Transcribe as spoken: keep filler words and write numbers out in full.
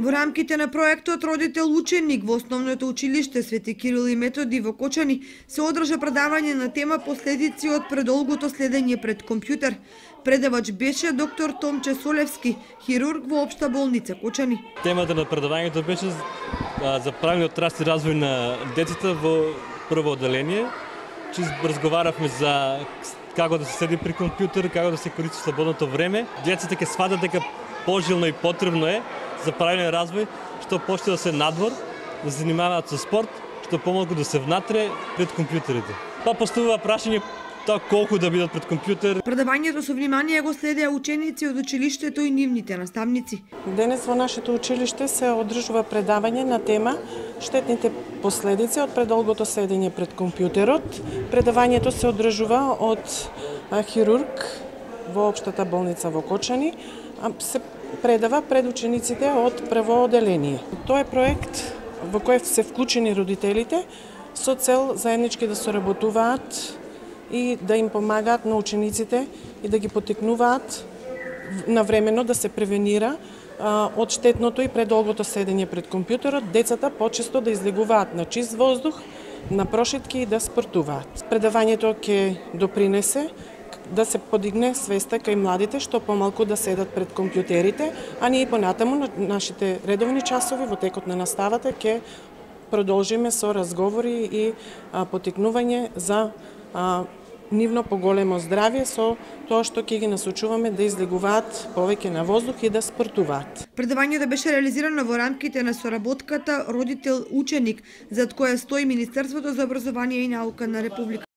Во рамките на проектот Родител ученик во Основното училиште Свети Кирил и Методи во Кочани се одржа предавање на тема последици од предолгото следење пред компјутер. Предавач беше доктор Томче Солевски, хирург во Општа болница Кочани. Темата на предавањето беше за правилниот раст и развој на децата во прво одделение. Че разговаравме за како да се седи при компјутер, како да се користи слободното време. Децата ќе сватат дека пожелно и потребно е за правилен развој, што почне да се надвор, да се занимаваат со спорт, што помалку да се внатре пред компјутерите. Па поставува прашање тоа колку да бидат пред компјутер. Предавањето со внимание го следеа ученици од училиштето и нивните наставници. Денес во нашето училиште се одржува предавање на тема штетните последици од предолгото седење пред компјутерот. Предавањето се одржува од хирург во Општата болница во Кочани. Се предава пред учениците од прво одделение. Тоа е проект во кој се вклучени родителите со цел заеднички да соработуваат и да им помагаат на учениците и да ги поттикнуваат навремено да се превенира а, од штетното и предолгото седење пред компјутерот, децата почесто да излегуваат на чист воздух, на прошетки и да спортуваат. Предавањето ќе допринесе да се подигне свеста кај младите што помалку да седат пред компјутерите, а ние понатаму на нашите редовни часови во текот на наставата ќе продолжиме со разговори и а, поттикнување за а, нивно поголемо здравје со тоа што ќе ги насочуваме да излегуваат повеќе на воздух и да спортуваат. Предавањето беше реализирано во рамките на соработката Родител ученик, зад која стои Министерството за образование и наука на Република